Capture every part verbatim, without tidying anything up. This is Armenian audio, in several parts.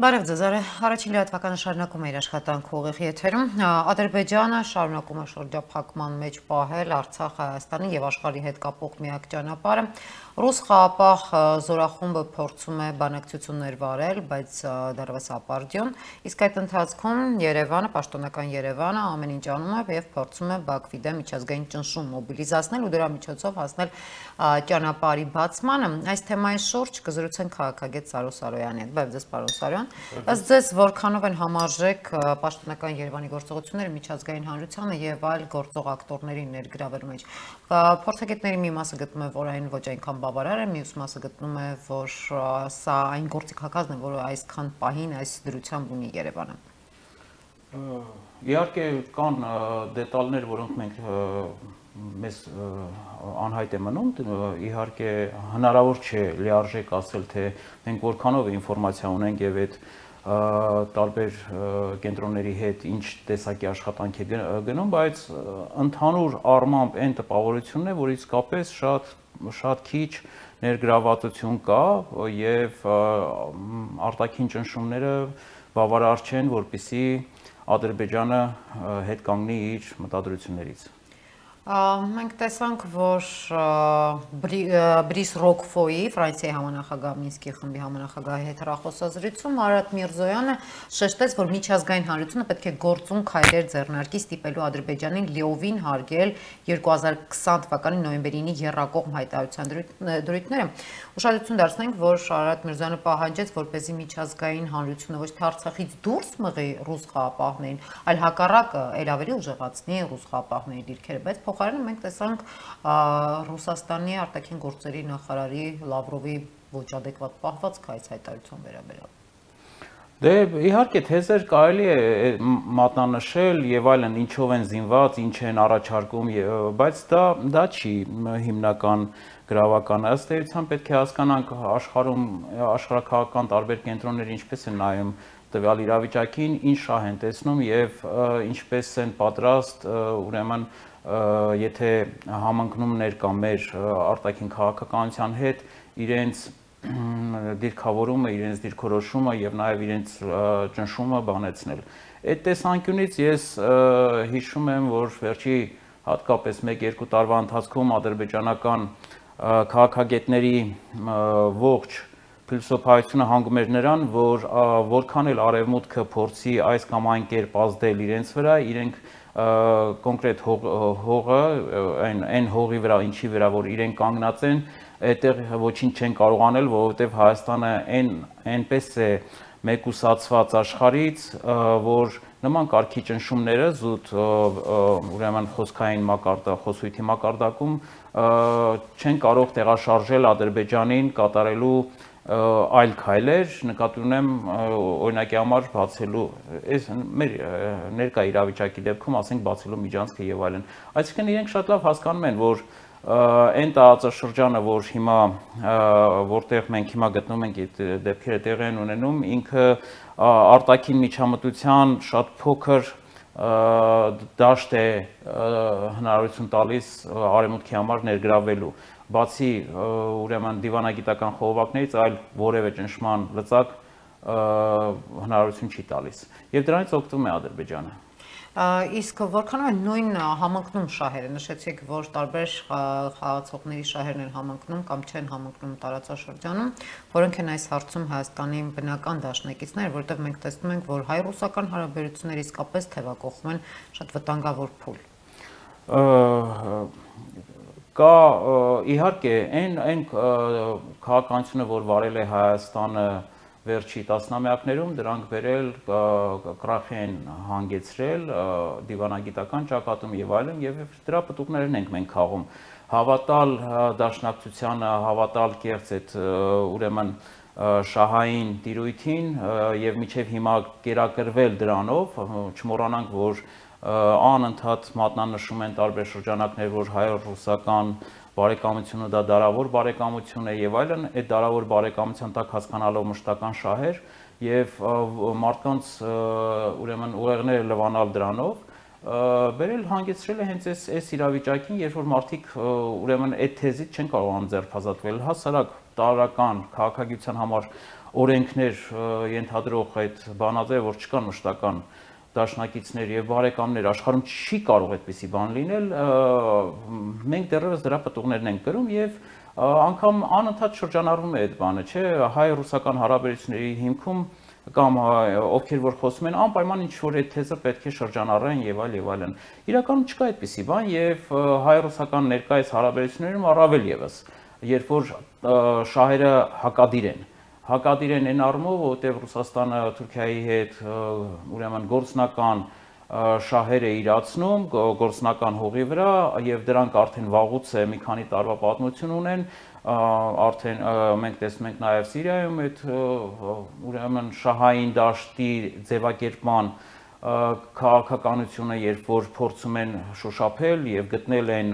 Բարև ձեզ, առաջին լրատվականը շարունակում է իր աշխատանքը ուղիղ եթերում։ Ադրբեջանը շարունակում է շրջափակման մեջ պահել Արցախ, Հայաստանի եւ աշխարհի հետ կապող միակ ճանապարհը։ Ռուս խաղապահ զորախումբը փորձում է բանակցություններ վարել, բայց դեռևս ապարդյուն, իսկ այդ ընթացքում Երևանը, պաշտոնական Երևանը ամեն ինչ անում է եւ փորձում է Բաքվի դեմ միջազգային ճնշում մոբիլիզացնել ու դրա միջոցով հասնել ճանապարհի բացմանը։ Այս թեմայի շուրջ կզրուցենք քաղաքագետ Սարո Սարոյանի հետ։ Բարև ձեզ, պարոն Սարոյան։ Ըստ ձեզ որքանով են համարժեք պաշտոնական Երևանի գործողությունները միջազգային հանրությանը եւ այլ գործող ակտորների ներգրավելու մեջ։ Փորձագետների մի մասը գտնում է, որ այն ոչ այնքան բավարար է, մյուս մասը գտնում է, որ սա այն գործիքակազմն է, որը այսքան պահին այս դրությամբ ունի Երևանը։ Իհարկե կան դետալներ, որոնք մենք մեզ անհայտ է մնում, իհարկե հնարավոր չէ լիարժեք ասել, թե մենք որքանով ինֆորմացիա ունենք եւ այդ տարբեր կենտրոնների հետ ինչ տեսակի աշխատանք է գնում, բայց ընդհանուր առմամբ այն տպավորությունն է, որ իսկապես շատ շատ քիչ ներգրավվածություն կա եւ արտաքին ճնշումները բավարար չեն, որպեսզի Ադրբեջանը հետ կանգնի իր մտադրություններից։ Մենք տեսանք, որ Բրիս Ռոկֆոյի, Ֆրանսիայի համանախագահ Մինսկի խմբի համանախագահի հետ հեռախոսազրույցում Արարատ Միրզոյանը շեշտեց, որ միջազգային հանրությունը պետք է գործուն քայլեր ձեռնարկի ստիպելու Ադրբեջանին լիովին հարգել երկու հազար քսան թվականի նոյեմբերի ինի եռակողմ հայտարարության դրույթները։ Ուշադրություն դարձնենք, որ Արարատ Միրզոյանը պահանջեց, որպեսզի միջազգային հանրությունը ոչ թե Արցախից դուրս մղի ռուս խաղապահներին, այլ հակառակը էլ ավելի ուժեղացնի ռուս խաղապահների դիրքերը, բայց փոխարենը մենք տեսանք Ռուսաստանի արտաքին գործերի նախարարի Լավրովի ոչ ադեկվատ պահվածքը այս հայտարարության վերաբերյալ։ Դե իհարկե թեզեր կարելի է մատնանշել եւ այլն, ինչով են զինված, ինչ են առաջարկում, բայց դա դա չի հիմնական գրավականը։ Ըստ էության պետք է հասկանանք աշխարհում աշխարհակաղակական տարբեր կենտրոններ ինչպես են նայում տվյալ իրավիճակին, ինչ շահ են տեսնում եւ ինչպես են պատրաստ ուրեմն եթե համընկնումներ կա մեր արտաքին քաղաքականության հետ, իրենց դիրքավորումը, իրենց դիրքորոշումը եւ նաեւ իրենց ճնշումը բանեցնել։ Այդ տեսանկյունից ես հիշում եմ, որ վերջի հատկապես մեկ-երկու տարվա ընթացքում ադրբեջանական քաղաքագետների ողջ փիլիսոփայությունը հանգում էր նրան, որ որքան էլ արևմուտքը փորձի այս կամ այն կերպ ազդել իրենց վրա, իրենք կոնկրետ հողը, այն այն հողի վրա, ինչի վրա որ իրենք կանգնած են, այդտեղ ոչինչ չեն կարող անել, որովհետև Հայաստանը այն այնպես է մեկուսացված աշխարհից, որ նման կարգի ճնշումները զուտ ուրեմն խոսքային մակարդակ, խոսույթի մակարդակում չեն կարող տեղաշարժել Ադրբեջանին կատարելու այլ քայլեր, նկատի ունեմ օրինակի համար բացելու, այս մեր ներկա իրավիճակի դեպքում ասենք բացելու միջանցքը եւ այլն։ Այսինքն իրենք շատ լավ հասկանում են, որ այն տարածաշրջանը, որ հիմա որտեղ մենք հիմա գտնվում ենք, այդ դեպքերը տեղի են ունենում, ինքը արտաքին միջամտության շատ փոքր դաշտ է հնարավորություն տալիս արևմուտքի համար ներգրավելու, բացի ուրեմն դիվանագիտական խողովակներից, այլ որևէ ճնշման լծակ հնարավորություն չի տալիս, եւ դրանից օգտվում է Ադրբեջանը։ Իսկ որքանով են նույն համընկնում շահերը, նշեցիք, որ տարբեր խաղացողների շահերն են համընկնում կամ չեն համընկնում տարածաշրջանում, որոնք են այս հարցում Հայաստանի բնական դաշնակիցներ, որտեղ մենք տեսնում ենք, որ հայ-ռուսական հարաբերությունները իսկապես թևակողում են շատ վտանգավոր փուլ։ Կա իհարկե այն այն քաղաքականությունը, որ վարել է Հայաստանը վերջի տասնամյակներում, դրանք բերել կրախի են հանգեցրել դիվանագիտական ճակատում եւ այլն, եւ դրա պտուղներն ենք մենք խաղում։ Հավատալ դաշնակցությանը, հավատալ կեղծ այդ ուրեմն շահային տիրույթին եւ միջև հիմա կերակրվել դրանով, չմոռանանք, որ անընդհատ մատնանշում են տարբեր շրջանակներ, որ հայ-ռուսական բարեկամությունը դա դարավոր բարեկամություն է եւ այլն, այդ դարավոր բարեկամության տակ հասկանալով մշտական շահեր եւ մարդկանց ուրեմն ուղեղները լվանալ դրանով, բերել հանգեցրել է հենց այս այս իրավիճակին, երբ որ մարդիկ ուրեմն այդ թեզից չեն կարողանում ձերբազատվել, հասարակ տարական քաղաքագիտության համար օրենքներ ենթադրող այդ բանաձև, որ չկան մշտական դաշնակիցներ եւ բարեկամներ աշխարհում չի կարող այդպիսի բան լինել, մենք դեռևս դրա պատուղներն ենք կրում եւ անգամ անընդհատ շրջանառվում է այդ բանը, չէ, հայ-ռուսական հարաբերությունների հիմքում կամ ովքեր որ խոսում են անպայման ինչ որ այդ թեզը պետք է շրջանառեն եւ այլ եւ այլն։ Իրականում չկա այդպիսի բան եւ հայ-ռուսական ներկայիս հարաբերություններում առավել եւս, երբ որ շահերը հակադիր են հակադիր են այն առումով, որտեղ Ռուսաստանը Թուրքիայի հետ ուրեմն գործնական շահեր է իրացնում, գործնական հողի վրա եւ դրանք արդեն վաղուց է մի քանի տարվա պատմություն ունեն, արդեն մենք տեսնում ենք նաեւ Սիրիայում այդ ուրեմն շահային դաշտի ձևակերպման քաղաքականությունը, երբ որ փորձում են շոշափել եւ գտնել են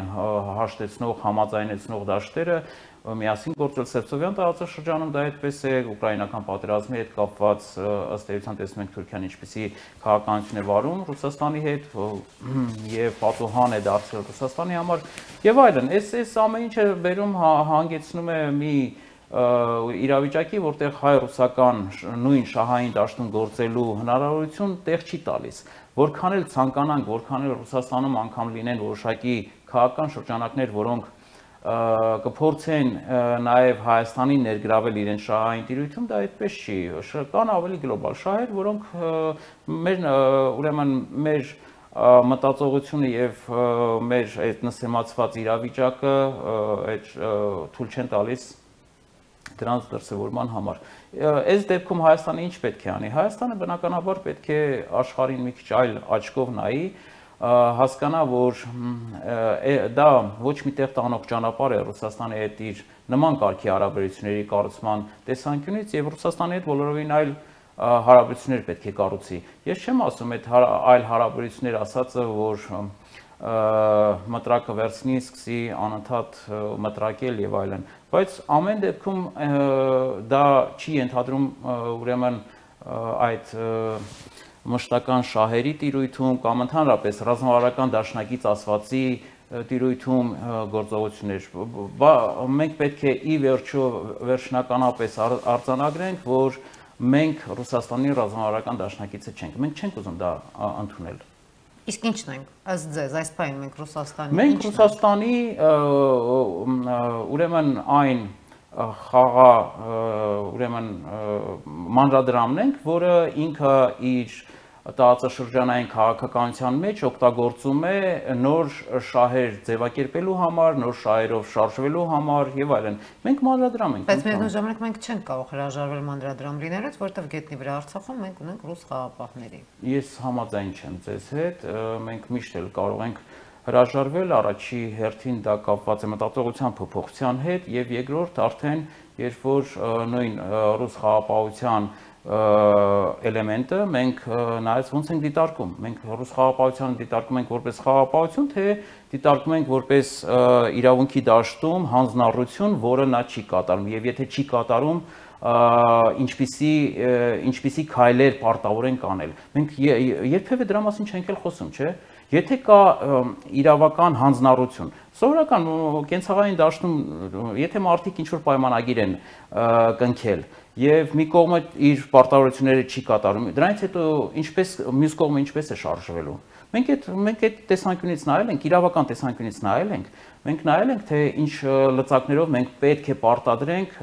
հաշտեցնող, համաձայնեցնող դաշտերը, միասին գործել Սևծովյան տարածաշրջանում, դա այդպես է, ուկրաինական պատերազմի հետ կապված ըստ էության տեսնում ենք Թուրքիան ինչպիսի քաղաքականություն է վարում Ռուսաստանի հետ եւ պատուհան է դարձել Ռուսաստանի համար եւ այլն։ Այս այս ամեն ինչը բերում հանգեցնում է մի իրավիճակի, որտեղ հայ-ռուսական նույն շահային դաշտում գործելու հնարավորություն տեղ չի տալիս։ Որքան էլ ցանկանանք, որքան էլ Ռուսաստանում անգամ լինեն որոշակի քաղաքական շրջանակներ, որոնք կփորձեն նաև Հայաստանին ներգրավել իրենց շահային տիրույթում, դա այդպես չի։ Կան ավելի գլոբալ շահեր, որոնք մեր ուրեմն մեր մտածողությունը եւ մեր այդ նսեմացված իրավիճակը այդ թույլ չեն տալիս դրանց դրսևորման համար։ Այս դեպքում Հայաստանը ինչ պետք է անի։ Հայաստանը բնականաբար պետք է աշխարհին մի քիչ այլ աչքով նայի, հասկանա, որ դա ոչ մի տեղ տանող ճանապարհ է Ռուսաստանի հետ իր նման կարգի հարաբերությունների կառուցման տեսանկյունից եւ Ռուսաստանի հետ բոլորովին այլ հարաբերություններ պետք է կառուցի։ Ես չեմ ասում այդ այլ հարաբերություններ ասածը, որ մտրակը վերցնի, սկսի անընդհատ մտրակել եւ այլն, բայց ամեն դեպքում դա չի ենթադրում ուրեմն այդ մշտական շահերի տիրույթում կամ ընդհանրապես ռազմավարական դաշնակից ասվածի տիրույթում գործողություններ։ Մենք պետք է ի վերջո վերջնականապես արձանագրենք, որ մենք Ռուսաստանի ռազմավարական դաշնակիցը չենք։ Մենք չենք ուզում դա ընդունել։ Իսկ ինչն ենք, ըստ ձեզ, այս պահին մենք Ռուսաստանի Մենք Ռուսաստանի ուրեմն այն խաղա ուրեմն մանրադրամն ենք, որը ինքը իր տարածաշրջանային քաղաքականության մեջ օգտագործում է նոր շահեր ձևակերպելու համար, նոր շահերով շարժվելու համար եւ այլն։ Մենք մանրադրամ ենք։ Բայց միևնույն ժամանակ մենք չենք կարող հրաժարվել մանրադրամ լինելուց, որովհետեւ գետնի վրա Արցախում մենք ունենք ռուս խաղապահների։ Ես համաձայն չեմ ձեզ հետ, մենք միշտ էլ կարող ենք հրաժարվել, առաջի հերթին դա կապված է մտածողության փոփոխության հետ եւ երկրորդ արդեն երբ որ նույն ռուս խաղապահության էլեմենտը մենք նայած ոնց ենք դիտարկում, մենք ռուս խաղապահությանը դիտարկում ենք որպես խաղապահություն, թե դիտարկում ենք որպես իրավունքի դաշտում հանձնառություն, որը նա չի կատարում եւ եթե չի կատարում ինչպիսի ինչպիսի քայլեր պարտավոր են կանել։ Մենք երբևէ դրա մասին չենք էլ խոսում, չէ՞։ Եթե կա իրավական հանձնառություն, սովորական կենցաղային դաշտում, եթե մարդիկ ինչ-որ պայմանագիր են կնքել եւ մի կողմը իր պարտավորությունները չի կատարում, դրանից հետո ինչպես մյուս կողմը ինչպես է շարժվելու։ Մենք այդ մենք այդ տեսանկյունից նայել ենք, իրավական տեսանկյունից նայել ենք, մենք նայել ենք, թե ինչ լծակներով մենք պետք է պարտադրենք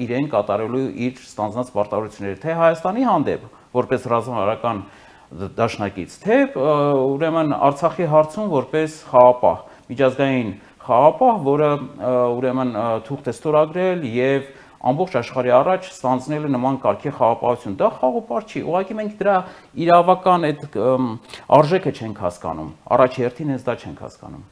իրեն կատարելու իր ստանձնած պարտավորությունները, թե Հայաստանի հանդեպ, որպես ռազմավարական դաշնակից, թե ուրեմն Արցախի հարցում որպես խաղապահ, միջազգային խաղապահ, որը ուրեմն թուղթ է ստորագրել եւ ամբողջ աշխարհի առաջ ստանձնել է նման կարգի խաղապահություն։ Դա խաղապահ չի, ուղղակի մենք դրա իրավական այդ արժեքը չենք հասկանում, առաջի հերթին հենց դա չենք հասկանում։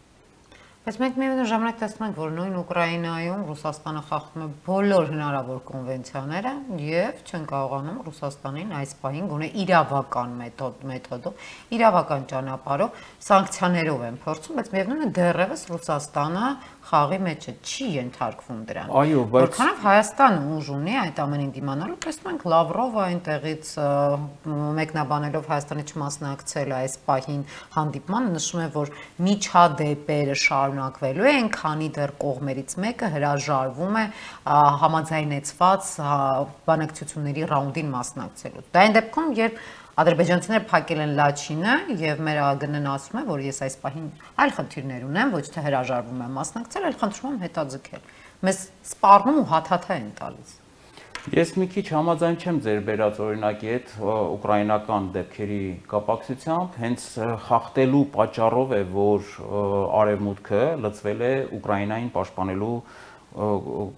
Բայց մենք միևնույն ժամանակ տեսնում ենք, որ նույն Ուկրաինայում Ռուսաստանը խախտում է բոլոր հնարավոր կոնվենցիաները եւ չեն կարողանում Ռուսաստանին այս պահին գոնե իրավական մեթոդ մեթոդով, իրավական ճանապարհով սանկցիաներով են փորձում, բայց միևնույն է դեռևս Ռուսաստանը խաղի մեջը չի ենթարկվում դրան։ Այո, բայց որքանով Հայաստանը ուժ ունի այդ ամենին դիմանալու, տեսնում ենք Լավրովը այնտեղից մեկնաբանելով Հայաստանի չմասնակցել այս պահին հանդիպմանը նշում է, որ միջադեպերը շարունակվում շարունակվելու է, այնքանի դեռ կողմերից մեկը հրաժարվում է համաձայնեցված բանակցությունների ռաունդին մասնակցելու։ Դա այն դեպքում, երբ ադրբեջանցիները փակել են Լաչինը եւ մեր ԱԳՆ-ն ասում է, որ ես այս պահին այլ խնդիրներ ունեմ, ոչ թե հրաժարվում եմ մասնակցել, այլ խնդրում եմ հետաձգել։ Մեզ սպառնում ու հաթաթա են տալիս։ Ես մի քիչ համաձայն չեմ ձեր բերած օրինակի հետ ուկրաինական դեպքերի կապակցությամբ, հենց խախտելու պատճառով է, որ արևմուտքը լծվել է Ուկրաինային պաշտպանելու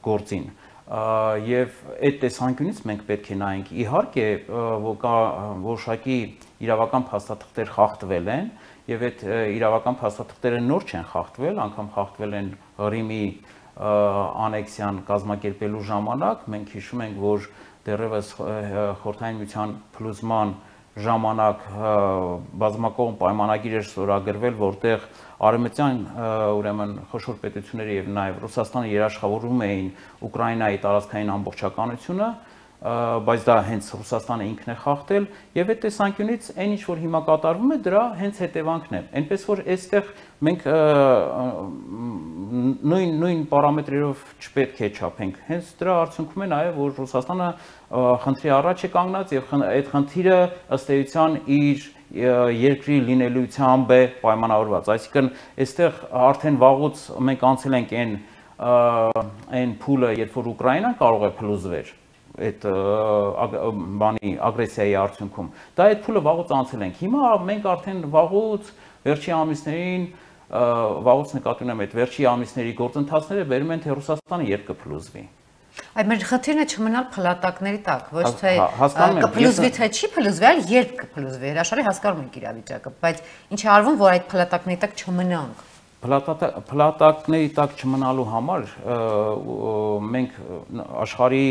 գործին։ Եվ այդ տեսանկյունից մենք պետք է նայենք, իհարկե, որ կա որոշակի իրավական փաստաթղթեր խախտվել են, եւ այդ իրավական փաստաթղթերը նոր չեն խախտվել, անգամ խախտվել են Ղրիմի անեքսիան կազմակերպելու ժամանակ, մենք հիշում ենք, որ դեռևս Խորհրդային Միության փլուզման ժամանակ բազմակողմ պայմանագիր էր ստորագրվել, որտեղ արևմտյան ուրեմն խոշոր պետությունները եւ նաեւ Ռուսաստանը երաշխավորում էին Ուկրաինայի տարածքային ամբողջականությունը, բայց դա հենց Ռուսաստանը ինքն է խախտել եւ այդ տեսանկյունից այն ինչ որ հիմա կատարվում է դրա հենց հետևանքն է այնպես որ այստեղ մենք նույն նույն պարամետրերով չպետք է չափենք հենց դրա արդյունքում է նաեւ որ Ռուսաստանը խնդրի առաջ է կանգնած եւ այդ խնդիրը ըստ էության իր երկրի լինելիությամբ է պայմանավորված այսինքն այստեղ արդեն վաղուց մենք անցել ենք այն այն փուլը երբ որ Ուկրաինան կարող է փլուզվել այդ բանի ագրեսիայի արդյունքում դա այդ փուլը վաղուց անցել ենք հիմա մենք արդեն վաղուց վերջի ամիսներին վաղուց նկատի ունեմ այդ վերջի ամիսների գործընթացները բերում են թե Ռուսաստանը երբ կփլուզվի Այդ մեր խնդիրն է չմնալ փլատակների տակ ոչ թե կփլուզվի թե չի փլուզվի այլ երբ կփլուզվի հրաշալի հասկանում ենք իրավիճակը բայց ինչ է արվում որ այդ փլատակների տակ չմնանք Փլատակների տակ չմնալու համար մենք աշխարհի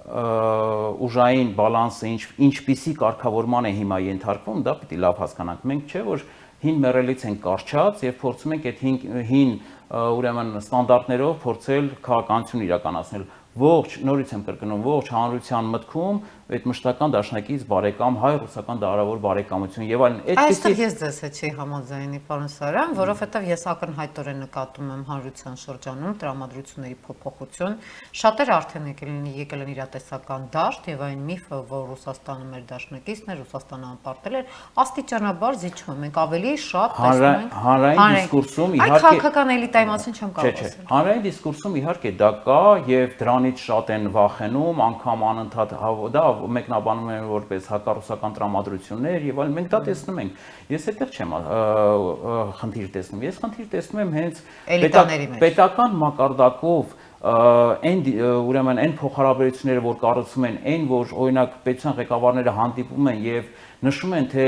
ուժային բալանսը ինչ ինչպիսի կարգավորման է հիմա ենթարկվում, դա պիտի լավ հասկանանք։ Մենք չէ որ հին մեռելից ենք կարճած եւ փորձում ենք այդ հին ուրեմն ստանդարտներով փորձել քաղաքականություն իրականացնել։ Ողջ նորից եմ կրկնում, ողջ հանրության մտքում այդ մշտական դաշնակից բարեկամ հայ-ռուսական դարավոր բարեկամություն եւ այլն այդպեսի ես ձեզ հետ չի համաձայնի պարոն Սարյան, որովհետեւ ես ակնհայտորեն նկատում եմ հանրության շրջանում տրամադրությունների փոփոխություն, շատեր արդեն եկել են եկել են իրատեսական դաշտ եւ այն միֆը, որ Ռուսաստանը մեր դաշնակիցն է, Ռուսաստանը անպարտել է, աստիճանաբար զիջում է, մենք ավելի շատ տեսնում ենք հանրային դիսկուրսում իհարկե այդ քաղաքական էլիտայի մասին չեմ կարող ասել։ Հանրային դիսկուրսում իհարկե դա կա եւ դրանից շատ են վախենում, անգամ անընդհատ դա մեկնաբանում են որպես հակառուսական տրամադրություններ եւ այլն մենք դա տեսնում ենք ես այդտեղ չեմ խնդիր տեսնում ես խնդիր տեսնում եմ հենց պետական մակարդակով այն ուրեմն այն փոխհարաբերությունները որ կառուցվում են այն որ օրինակ պետության ղեկավարները հանդիպում են եւ նշում են թե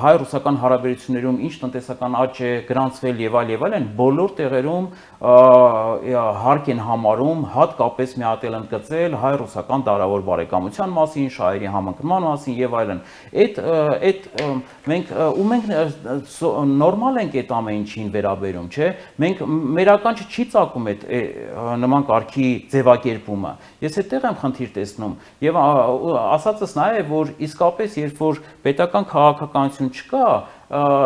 հայ-ռուսական հարաբերություններում ինչ տնտեսական աճ է գրանցվել եւ այլ եւ այլն բոլոր տեղերում հարկ են համարում հատկապես մի հատ էլ ընդգծել հայ-ռուսական դարավոր բարեկամության մասին, շահերի համընկնման մասին եւ այլն։ Այդ այդ մենք ու մենք նորմալ ենք այդ ամեն ինչին վերաբերում, չէ՞։ Մենք մեր ականջը չի ծակում այդ նման կարգի ձևակերպումը։ Ես այդտեղ եմ խնդիր տեսնում եւ ասածս նա է որ իսկապես երբ որ պետական քաղաքականություն չկա,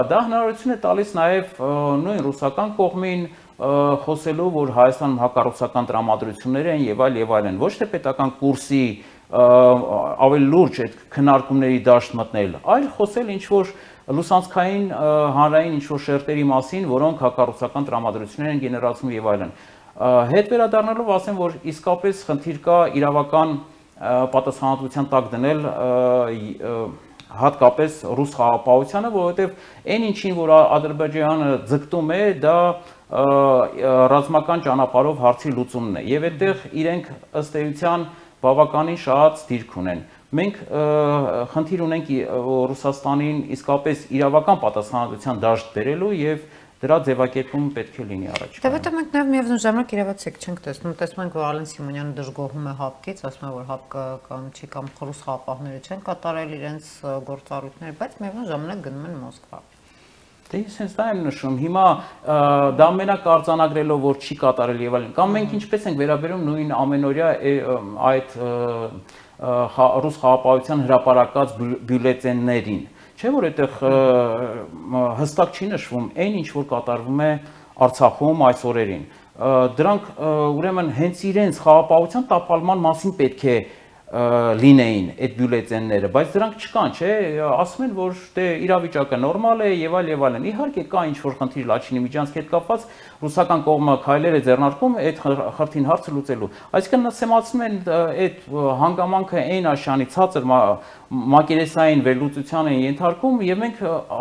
դա հնարավորություն է տալիս նաև նույն ռուսական կողմին խոսելու, որ Հայաստանում հակառուսական տրամադրություններ են եւ այլ եւ այլն, ոչ թե պետական կուրսի ավելի լուրջ այդ քննարկումների դաշտ մտնել, այլ խոսել ինչ որ լուսանցքային հանրային ինչ որ շերտերի մասին, որոնք հակառուսական տրամադրություններ են գեներացնում եւ այլն։ Հետ վերադառնալով ասեմ, որ իսկապես խնդիր կա իրավական պատասխանատվության տակ դնել հատկապես ռուս խաղաղապահությանը, որովհետև այն ինչին, որ Ադրբեջանը ձգտում է, դա ռազմական ճանապարհով հարցի լուծումն է, եւ այդտեղ իրենք ըստ էության բավականին շատ դիրք ունեն։ Մենք խնդիր ունենք Ռուսաստանին իսկապես իրավական պատասխանատվության դաշտ բերելու եւ դրա ձևակերպումը պետք է լինի առաջ։ Դե որտեղ մենք նաև միևնույն ժամանակ իրավացիք չենք տեսնում, տեսնում ենք որ Ալեն Սիմոնյանը դժգոհում է հապկից, ասում է որ հապկը կամ չի կամ ռուս խաղաղապահները չեն կատարել իրենց գործառույթները, բայց միևնույն ժամանակ գնում են Մոսկվա։ Դե ես հենց դա եմ նշում, հիմա դա մենակ արձանագրելով որ չի կատարել եւ այլն, կամ մենք ինչպես ենք վերաբերում նույն ամենօրյա այդ ռուս խաղաղապահության հրապարակած բյուլետեններին։ Չէ՞ որ այդտեղ հստակ չի նշվում այն ինչ որ կատարվում է Արցախում այս օրերին։ Դրանք ուրեմն հենց իրենց խաղապահության տապալման մասին պետք է լինեին այդ բյուլետենները, բայց դրանք չկան, չէ, ասում են, որ դե իրավիճակը նորմալ է եւ այլ եւ այլն։ Իհարկե կա ինչ որ խնդիր Լաչինի միջանցքի հետ կապված, ռուսական կողմը քայլեր է ձեռնարկում այդ խրթին հարցը լուծելու։ Այսինքն նսեմացնում են այդ հանգամանքը այն աշանի ցածր մակերեսային վերլուծության են ենթարկում եւ մենք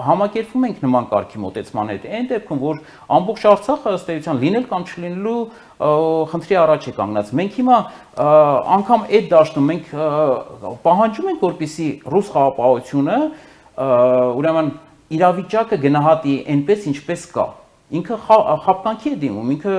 համակերպվում ենք նման կարգի մոտեցման հետ։ Այն դեպքում, որ ամբողջ Արցախը ըստ էության լինել կամ չլինելու խնդրի առաջ է կանգնած։ Մենք հիմա անգամ այդ դաշտում մենք պահանջում ենք, որպեսզի ռուս խաղապահությունը ուրեմն իրավիճակը գնահատի այնպես, ինչպես կա։ Ինքը խապկանքի է դիմում, ինքը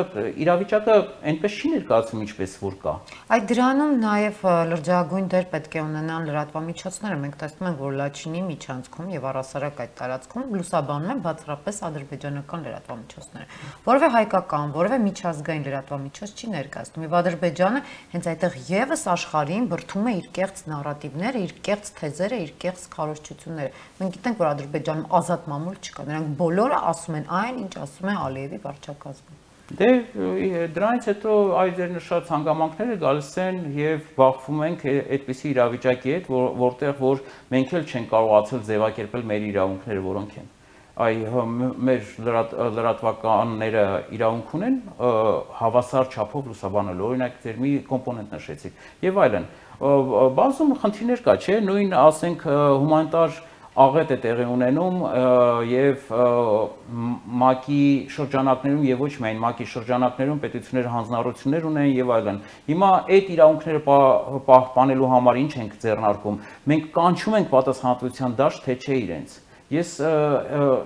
իրավիճակը այնպես չի ներկայացնում, ինչպես որ կա։ Այդ դրանում նաև լրջագույն դեր պետք է ունենան լրատվամիջոցները։ Մենք տեսնում ենք, որ Լաչինի միջանցքում եւ առասարակ այդ տարածքում լուսաբանում են բացառապես ադրբեջանական լրատվամիջոցները։ Որևէ հայկական, որևէ միջազգային լրատվամիջոց չի ներկայացնում։ Եվ Ադրբեջանը հենց այդտեղ եւս աշխարհին բրդում է իր կեղծ նարատիվները, իր կեղծ թեզերը, իր կեղծ քարոզչությունները։ Մենք գիտենք, որ Ադրբեջանում ազատ մամուլ չկա։ Նրանք բոլորը ասում են այն, ինչ ասում է Ալիևի վարչակազմը։ Դե դրանից հետո այ ձեր նշած հանգամանքները գալիս են եւ բախվում ենք այդպիսի իրավիճակի հետ, որտեղ որ մենք էլ չենք կարողացել ձևակերպել մեր իրավունքները, որոնք են։ Այ մեր լրատվականները իրավունք ունեն հավասար չափով լուսաբանելու, օրինակ ձեր մի կոմպոնենտ նշեցիք եւ այլն։ Բազում խնդիրներ կա, չէ՞, նույն ասենք հումանիտար աղետ է տեղի ունենում եւ ՄԱԿ-ի շրջանակներում եւ ոչ միայն ՄԱԿ-ի շրջանակներում պետությունները հանձնառություններ ունեն եւ այլն։ Հիմա այդ իրավունքները պահպանելու համար ինչ ենք ձեռնարկում։ Մենք կանչում ենք պատասխանատվության դաշտ, թե չէ իրենց։ Ես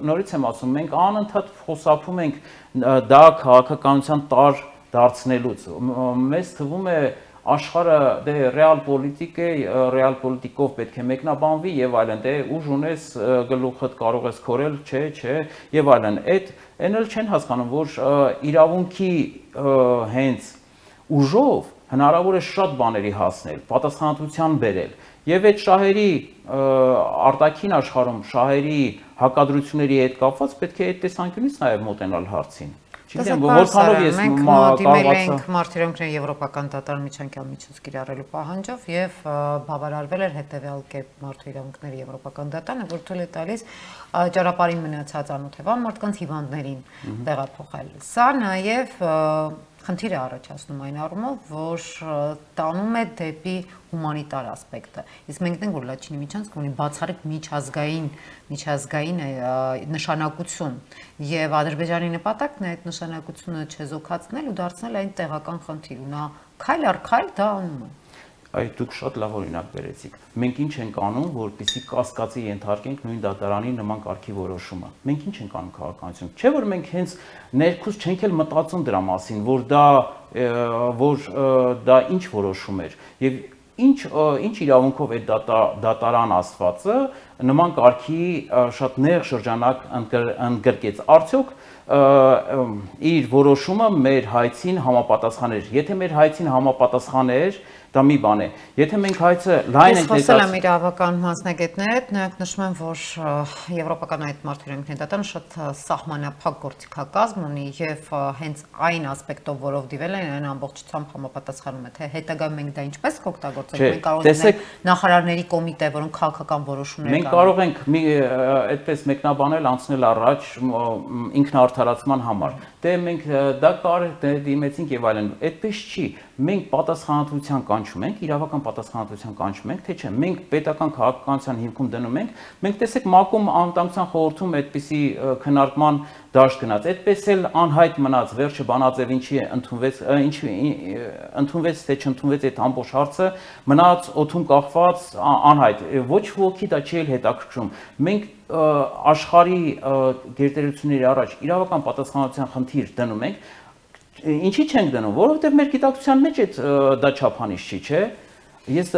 նորից եմ ասում, մենք անընդհատ խոսափում ենք դա քաղաքականության տար դարձնելուց։ Մեզ թվում է աշխարհը դե ռեալ պոլիտիկ է, ռեալ պոլիտիկով պետք է մեկնաբանվի եւ այլն, դե ուժ ունես գլուխդ կարող ես քորել, չէ, չէ եւ այլն։ Այդ այն էլ չեն հասկանում, որ իրավունքի հենց ուժով հնարավոր է շատ բաների հասնել, պատասխանատվության բերել եւ այդ շահերի արտաքին աշխարհում շահերի հակադրությունների հետ կապված պետք է այդ տեսանկյունից նաեւ մոտենալ հարցին։ Մենք դիմել ենք մարտիրոնքների եվրոպական դատարան միջանկյալ միջոց կիրառելու պահանջով եւ բավարարվել էր հետեւյալ կերպ մարդու իրավունքների եվրոպական դատարանը, որ թույլ է տալիս ճանապարհին մնացած անօթևան մարդկանց հիվանդներին տեղափոխել։ Սա նաեւ խնդիր է առաջացնում այն առումով, որ տանում է դեպի հումանիտար ասպեկտը։ Իսկ մենք դենք որ Լաչինի միջանցքը ունի բացառիկ միջազգային միջազգային նշանակություն եւ Ադրբեջանի նպատակն է այդ նշանակությունը չեզոքացնել ու դարձնել այն տեղական խնդիր ու նա քայլ առ քայլ դա անում է։ Այ դուք շատ լավ օրինակ բերեցիք։ Մենք ինչ ենք անում, որպեսզի կասկածի ենթարկենք նույն դատարանի նման կարգի որոշումը։ Մենք ինչ ենք անում քաղաքականություն։ Չէ՞ որ մենք հենց ներքուս չենք էլ մտածում դրա մասին, որ դա որ դա ինչ որոշում էր եւ ինչ ինչ իրավունքով այդ դատարան աստվածը նման կարգի շատ նեղ շրջանակ ընդգրկեց։ Արդյոք իր որոշումը մեր հայցին համապատասխան էր։ Եթե մեր հայցին համապատասխան էր, դա մի բան է։ Եթե մենք հայցը լայն ենք խոսել եմ իրավական մասնագետների հետ, նրանք նշում են, որ եվրոպական այդ մարդու իրավունքների դատարանը շատ սահմանափակ գործիքակազմ ունի եւ հենց այն ասպեկտով, որով դիվել են, այն ամբողջությամբ համապատասխանում է, թե հետագայում մենք դա ինչպես կօգտագործենք։ Մենք կարող ենք նախարարների կոմիտե, որոնք քաղաքական որոշումներ Մենք կարող ենք այդպես մեկնաբանել անցնել առաջ ինքնաարդարացման համար։ Դե մենք դա կարող դիմեցինք եւ այլն։ Այդպես չի։ Մենք պատասխանատվության կանչում ենք, իրավական պատասխանատվության կանչում ենք, թե չէ։ Մենք պետական քաղաքականության հիմքում դնում ենք։ Մենք տեսեք ՄԱԿ-ում անվտանգության խորհրդում այդպիսի քննարկման դաշտ գնաց։ Այդպես էլ անհայտ մնաց վերջը Բանաձև ինչի ընդունվեց, ինչի ընդունվեց թե չընդունվեց այդ ամբողջ հարցը, մնաց օդում կախված անհայտ։ Ոչ ոքի դա չի էլ հետաքրքրում։ Մենք աշխարհի գերտերությունների առաջ իրավական պատասխանատվության խնդիր դնում ենք։ Ինչի չենք դնում, որովհետև մեր գիտակցության մեջ այդ դա չափանիշ չի, չէ։ Ես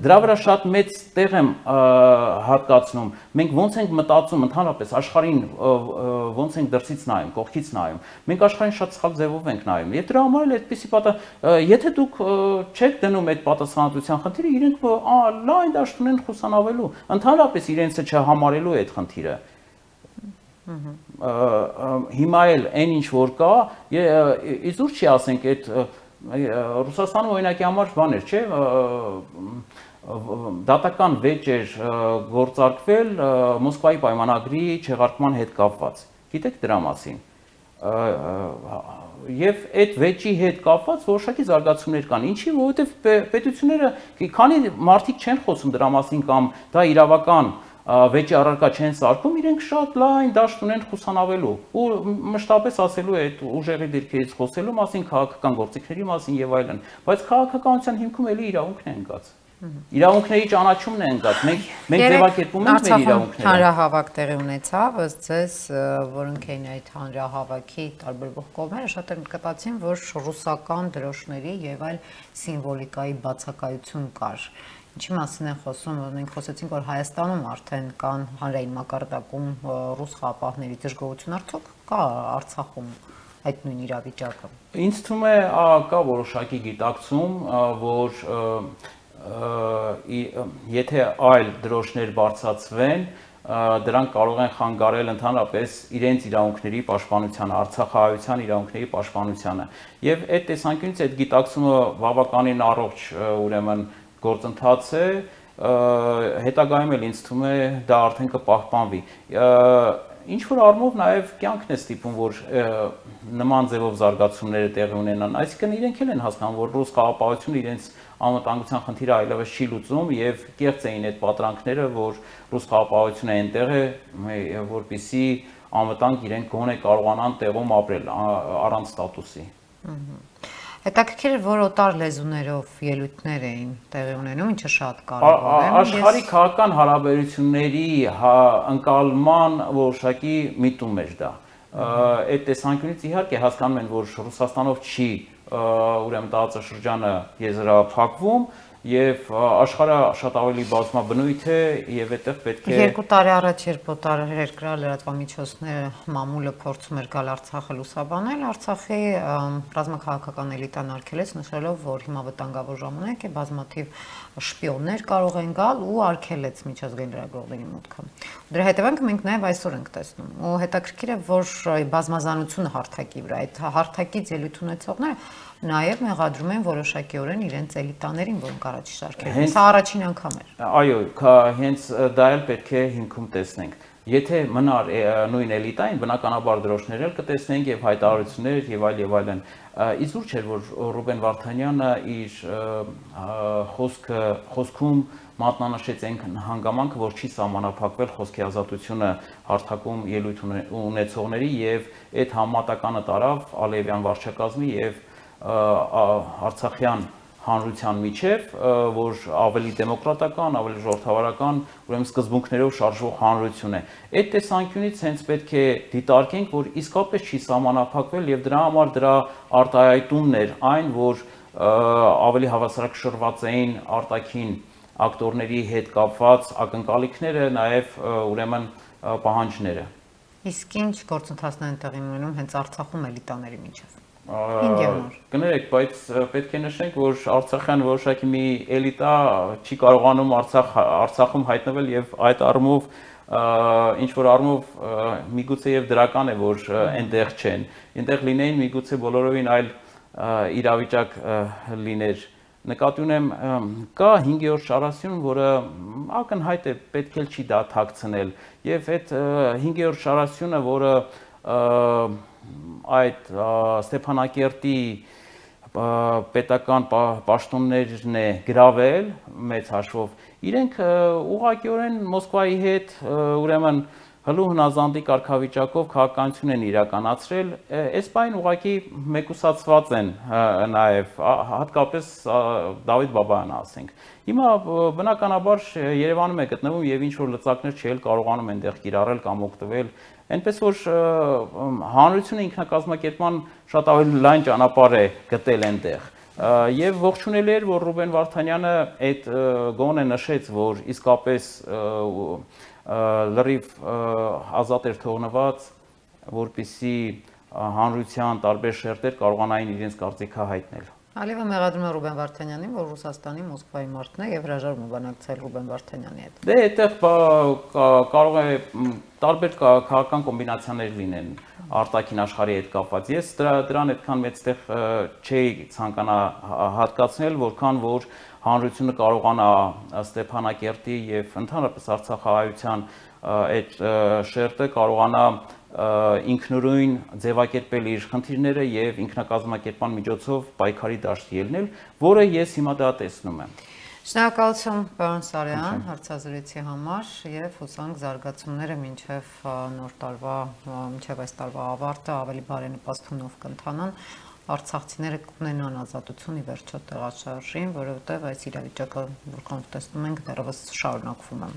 դրա վրա շատ մեծ տեղ եմ հատկացնում։ Մենք ոնց ենք մտածում ընդհանրապես աշխարհին ոնց ենք դրսից նայում, կողքից նայում։ Մենք աշխարհին շատ սխալ ձևով ենք նայում։ Եվ դրա համար էլ այդպեսի պատա եթե դուք չեք դնում այդ պատասխանատվության խնդիրը, իրենք լայն դաշտ ունեն խուսանավելու, ընդհանրապես իրենցը չհամարելու այդ խնդիրը։ Հիմա էլ այն ինչ որ կա, իզուր չի ասենք այդ Ռուսաստանում օրինակի համար բան էր, չէ՞, դատական վեճ էր գործարկվել Մոսկվայի պայմանագրի չեղարկման հետ կապված։ Գիտեք դրա մասին։ Եվ այդ վեճի հետ կապված որոշակի զարգացումներ կան։ Ինչի, որովհետև պետությունները, քանի մարդիկ չեն խոսում դրա մասին կամ դա իրավական վեճի առարկա չեն սարքում, իրենք շատ լայն դաշտ ունեն խուսանավելու ու մշտապես ասելու այդ ուժերի դիրքերից խոսելու մասին, քաղաքական գործիքների մասին եւ այլն, բայց քաղաքականության հիմքում էլի իրավունքն է ընկած։ Իրավունքների ճանաչումն է ընկած։ Մենք մենք ձևակերպում ենք մեր իրավունքները։ Հանրահավաք տեղի ունեցավ, ըստ ձեզ, որոնք էին այդ հանրահավաքի տարբերվող կողմերը, շատ են կտացին, որ ռուսական դրոշների եւ այլ սիմվոլիկայի բացակայություն կար։ Ինչի մասին են խոսում, մենք խոսեցինք, որ Հայաստանում արդեն կան հանրային մակարդակում ռուս խաղապահների դժգոհություն, արդյոք կա Արցախում այդ նույն իրավիճակը։ Ինձ թվում է կա որոշակի գիտակցում, որ եթե այլ դրոշներ բարձրացվեն, դրանք կարող են խանգարել ընդհանրապես իրենց իրավունքների պաշտպանությանը, արցախահայության իրավունքների պաշտպանությանը։ Եվ այդ տեսանկյունից այդ գիտակցումը բավականին առողջ, ուրեմն գործընթաց է, հետագայում էլ ինձ թվում է դա արդեն կպահպանվի։ Ինչ որ առումով նաև կյանքն է ստիպում, որ նման ձևով զարգացումները տեղի ունենան, այսինքն իրենք էլ են հասկանում, որ ռուս խաղապահությունը իրենց անվտանգության խնդիրը այլևս չի լուծում եւ կեղծ էին այդ պատրանքները, որ ռուս խաղապահությունը այնտեղ է, որպեսզի անվտանգ իրենք գոնե կարողանան տեղում ապրել առանց ստատուսի։ Հետաքրքիր է, որ օտար լեզուներով ելույթներ էին տեղի ունենում, ինչը շատ կարևոր է։ Աշխարհի քաղաքական հարաբերությունների ընկալման որոշակի միտում էր դա։ Այդ տեսանկյունից իհարկե հասկանում են, որ Ռուսաստանով չի ուրեմն տարածաշրջանը եզրափակվում եւ աշխարհը շատ ավելի բազմաբնույթ է եւ այդտեղ պետք է Երկու տարի առաջ, երբ օտար երկրի լրատվամիջոցները մամուլը փորձում էր գալ Արցախը լուսաբանել, Արցախի ռազմաքաղաքական էլիտան արգելեց, նշելով, որ հիմա վտանգավոր ժամանակ է, բազմաթիվ շպիոններ կարող են գալ ու արգելեց միջազգային լրագրողների մուտքը։ Դրա հետևանքը մենք նաեւ այսօր ենք տեսնում։ Ու հետաքրքիր է, որ բազմազանությունը հարթակի վրա, այդ հարթակից ելույթ ունեցողները նաև մեղադրում են որոշակիորեն իրենց էլիտաներին, որոնք առաջ շարքերում են։ Սա առաջին անգամ էր։ Այո, հենց դա էլ պետք է հիմքում տեսնենք։ Եթե մնար նույն էլիտային, բնականաբար դրոշներ էլ կտեսնենք եւ հայտարարություններ եւ այլ եւ այլն։ Իզուր չէր, որ Ռուբեն Վարդանյանը իր խոսքը խոսքում մատնանշեց այն հանգամանքը, որ չի սահմանափակվել խոսքի ազատությունը հարթակում ելույթ ունեցողների եւ այդ համատականը տարավ Ալիևյան վարչակազմի եւ արցախյան հանրության միջև, որ ավելի դեմոկրատական, ավելի ժողովրդավարական, ուրեմն սկզբունքներով շարժվող հանրություն է։ Այդ տեսանկյունից հենց պետք է դիտարկենք, որ իսկապես չի սահմանափակվել եւ դրա համար դրա արտահայտումն էր այն, որ ավելի հավասարակշռված էին արտաքին ակտորների հետ կապված ակնկալիքները, նաեւ ուրեմն պահանջները։ Իսկ ինչ գործընթացներ են տեղի ունենում հենց Արցախում էլիտաների միջև։ Կներեք, բայց պետք է նշենք, որ Արցախյան որոշակի մի էլիտա չի կարողանում Արցախ Արցախում հայտնվել եւ այդ առումով ինչ որ առումով միգուցե եւ դրական է, որ այնտեղ չեն։ Այնտեղ լինեին միգուցե բոլորովին այլ իրավիճակ լիներ։ Նկատի ունեմ, կա հինգերորդ շարասյուն, որը ակնհայտ է, պետք է չի դա թաքցնել եւ այդ հինգերորդ շարասյունը, որը այդ Ստեփանակերտի պետական պաշտոններն է գրավել մեծ հաշվով, իրենք ուղղակիորեն Մոսկվայի հետ ուրեմն հլու հնազանդի կարգավիճակով քաղաքականություն են իրականացրել, այս բանը ուղղակի մեկուսացված են նաև հատկապես Դավիթ Բաբայանը ասենք։ Հիմա բնականաբար Երևանում է գտնվում եւ ինչ որ լծակներ չէ, կարողանում են այնտեղ կիրառել կամ օգտվել, այնպես որ հանրությունը ինքնակազմակերպման շատ ավելի լայն ճանապարհ է գտել այնտեղ։ Եվ ողջունելի էր, որ Ռուբեն Վարդանյանը այդ գոնե նշեց, որ իսկապես լրիվ ազատ էր թողնված, որպեսզի հանրության տարբեր շերտեր կարողանային իրենց կարծիքը հայտնել։ Ալիևը մեղադրում է Ռուբեն Վարդանյանին, որ Ռուսաստանի Մոսկվայի մարդն է եւ հրաժարվում է բանակցել Ռուբեն Վարդանյանի հետ։ Դե այդտեղ կարող է տարբեր քաղաքական կոմբինացիաներ լինեն արտաքին աշխարհի հետ կապված։ Ես դրան այդքան մեծ տեղ չէի ցանկանա հատկացնել, որքան որ հանրությունը կարողանա Ստեփանակերտի եւ ընդհանրապես Արցախահայության այդ շերտը կարողանա ինքնուրույն ձևակերպել իր խնդիրները եւ ինքնակազմակերպման միջոցով պայքարի դաշտ ելնել, որը ես հիմա դա տեսնում եմ։ Շնորհակալություն, պարոն Սարյան, հարցազրույցի համար եւ հուսանք զարգացումները մինչեւ նոր տարվա, մինչեւ այս տարվա ավարտը ավելի բարենպաստ հունով կընթանան, արցախցիները կունենան ազատություն ի վերջո տեղաշարժին, որովհետեւ այս իրավիճակը, որքան տեսնում ենք, դեռևս շարունակվում է։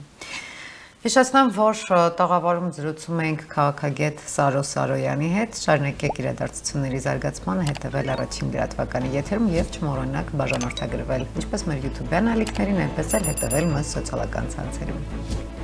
Հիշեցնեմ, որ տաղավարում զրուցում ենք քաղաքագետ Սարո Սարոյանի հետ, շարունակեք իրադարձությունների զարգացմանը հետևել առաջին լրատվականի եթերում եւ չմոռանաք բաժանորդագրվել, ինչպես մեր YouTube-յան ալիքներին, այնպես էլ հետևել մեզ սոցիալական ցանցերում։